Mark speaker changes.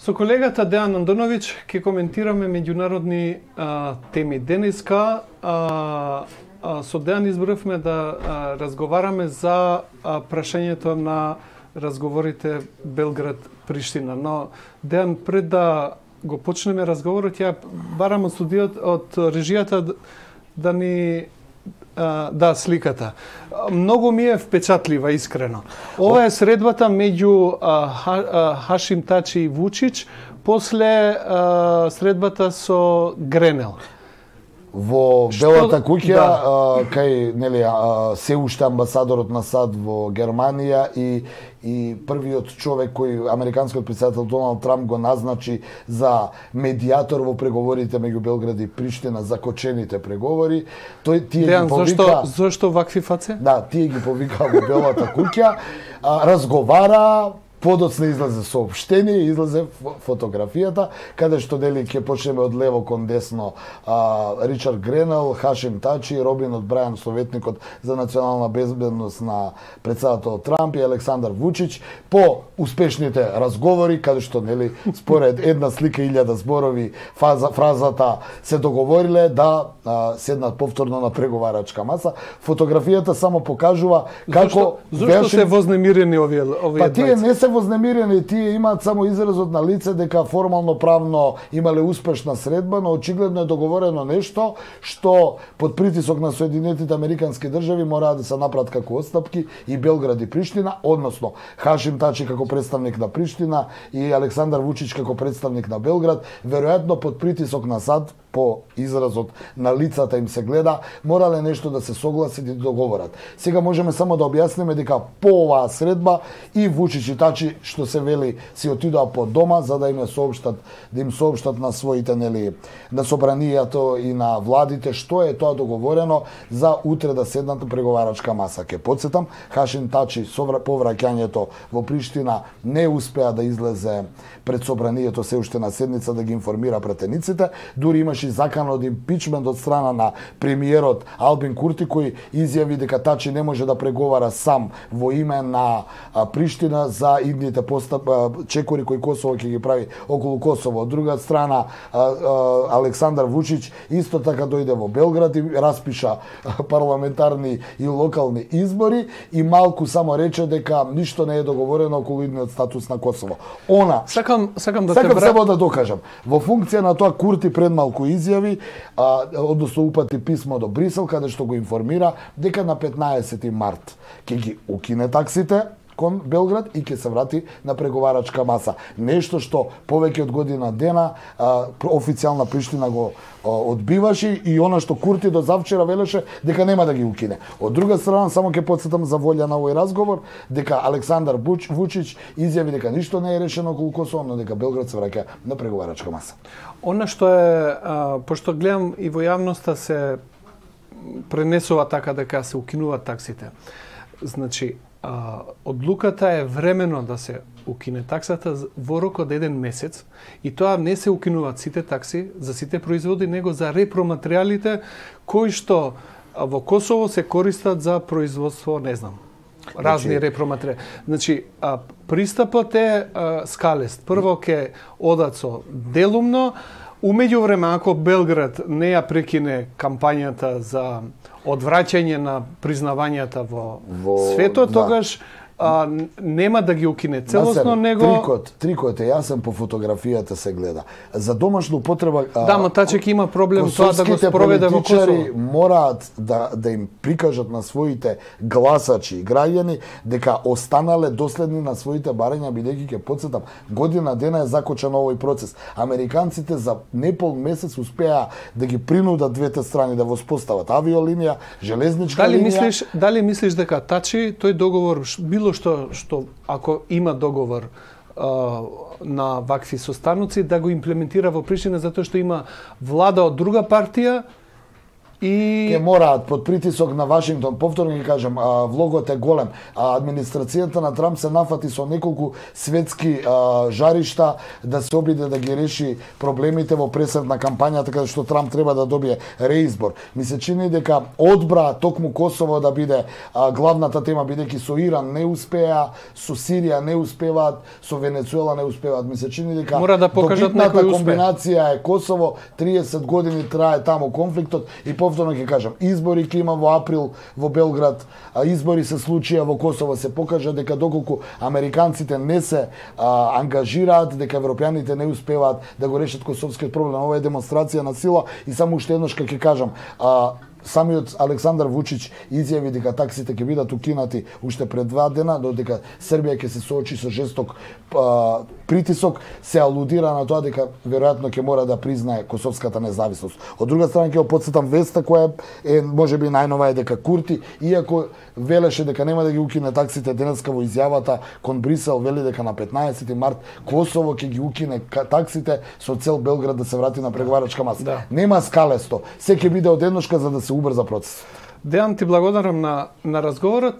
Speaker 1: Со колегата Дејан Андоновиќ ќе коментираме меѓународни теми. Денеска со Дејан избравме да разговараме за прашањето на разговорите Белград-Приштина. Но Дејан, пред да го почнеме разговорот, ја барам од студиот од режијата да ни сликата. Многу ми е впечатлива, искрено. Ова е средбата меѓу Хашим Тачи и Вучич после средбата со Гренел.
Speaker 2: Во Белата куќа, кај се уште амбасадорот на САД во Германија и првиот човек кој американскиот претседател Доналд Трамп го назначи за медијатор во преговорите меѓу Белград и Приштина, закочените преговори. Тој тие ги повика.
Speaker 1: Зошто вакви фаце?
Speaker 2: Да, тие ги повика во Белата куќа, разговара. Подоцна излезе соопштение, излезе фотографијата, каде што ќе почнеме од лево кон десно. Ричард Гренел, Хашим Тачи, Робин О'Брајан, советникот за национална безбедност на претседател Трамп и Александар Вучич, по успешните разговори, каде што според една слика 1000 зборови фразата се договориле да седнат повторно на преговарачка маса. Фотографијата само покажува како
Speaker 1: Зошто се вознемирени овие
Speaker 2: Па тие не се вознемирени, тие имаат само изразот на лице дека формално правно имале успешна средба, но очигледно е договорено нешто што под притисок на Соединетите Американски држави мораат да се направат како отстапки и Белград и Приштина, односно Хашим Тачи како представник на Приштина и Александар Вучич како представник на Белград, веројатно под притисок на САД, по изразот на лицата им се гледа, морале нешто да се согласат и договорат. Сега можеме само да објасниме дека по оваа средба и Вучич и Тачи, што се вели, си отидоа по дома за да им соопштат на своите на собранијето и на владите што е тоа договорено за утре да седнат на преговарачка маса. Ке потсетам, Хашим Тачи по враќањето во Приштина не успеа да излезе пред собранијето се уште на седница да ги информира пратениците, дури имаше закан од импичмент од страна на премиерот Албин Курти, кој изјави дека Тачи не може да преговара сам во име на Приштина за идните чекори кои Косово ќе ги прави околу Косово. Од друга страна, Александар Вучич исто така дојде во Белград и распиша парламентарни и локални избори и малку само рече дека ништо не е договорено околу идниот статус на Косово.
Speaker 1: Сакам
Speaker 2: само да докажам. Во функција на тоа Курти пред малку изјави, односно упати писмо до Брисел, каде што го информира дека на 15 март ќе ги укине таксите кон Белград и ќе се врати на преговарачка маса. Нешто што повеќе од година дена официјална Приштина го одбиваше и она што Курти до завчера велеше дека нема да ги укине. Од друга страна, само ќе потсетам за волја на овој разговор, дека Александар Вучич изјави дека ништо не е решено околу Косово, но дека Белград се враќа на преговарачка маса.
Speaker 1: Она што е, пошто гледам и во јавноста се пренесува така дека се укинуваат таксите. Значи, одлуката е времено да се укине таксата во рок од 1 месец и тоа не се укинуваат сите такси за сите производи, него за репроматеријалите кои што во Косово се користат за производство, не знам, разни репроматеријали. Значи, пристапот е скалест. Прво ќе одат со делумно, умеѓу време, ако Белград не ја прекине кампањата за одвраќање на признавањата во светот, тогаш нема да ги укине целосно, него...
Speaker 2: Трикот е јасен, по фотографијата се гледа. За домашна употреба...
Speaker 1: Да, ма Тачек има проблем тоа да го спроведе во Косово.
Speaker 2: Мораат да им прикажат на своите гласачи и граѓани дека останале доследни на своите барања, бидејќи ќе потсетам, година дена е закочен овој процес. Американците за непол месец успеа да ги принудат двете страни да воспостават авиолинија, железничка линија.
Speaker 1: Дали мислиш дека Тачи тој договор било што ако има договор на вакви состаноци да го имплементира во Приштина, затоа што има влада од друга партија
Speaker 2: Ке мораат под притисок на Вашингтон, повторно ги кажам, влогот е голем. Администрацијата на Трамп се нафати со неколку светски жаришта да се обиде да ги реши проблемите во пресред на кампањата, така што Трамп треба да добие реизбор. Ми се чини дека одбра токму Косово да биде главната тема, бидејќи со Иран не успеа, со Сирија не успеваат, со Венецуела не успеваат. Ми се чини дека
Speaker 1: мора да покажат некој успех.
Speaker 2: Комбинација е Косово, 30 години трае таму конфликтот и повторно ќе кажам, избори ќе има во април во Белград, избори се случија во Косово, се покажа дека доколку американците не се ангажираат, дека европјаните не успеваат да го решат косовскиот проблем. Ова е демонстрација на сила и само уште еднаш ќе кажам, самиот Александар Вучич изјави дека таксите ќе бидат укинати уште пред 2 дена, додека Србија ќе се соочи со жесток притисок, се алудира на тоа дека веројатно ќе мора да признае косовската независност. Од друга страна ќе опотсетам веста која е можеби најнова е дека Курти, иако велеше дека нема да ги укине таксите, денеска во изјавата кон Брисел вели дека на 15 март Косово ќе ги укине таксите со цел Белград да се врати на преговарачка маса.
Speaker 1: Да.
Speaker 2: Нема скалесто. Се ќе биде одедношка за да се убрза процесот.
Speaker 1: Дејан, ти благодарам на разговорот.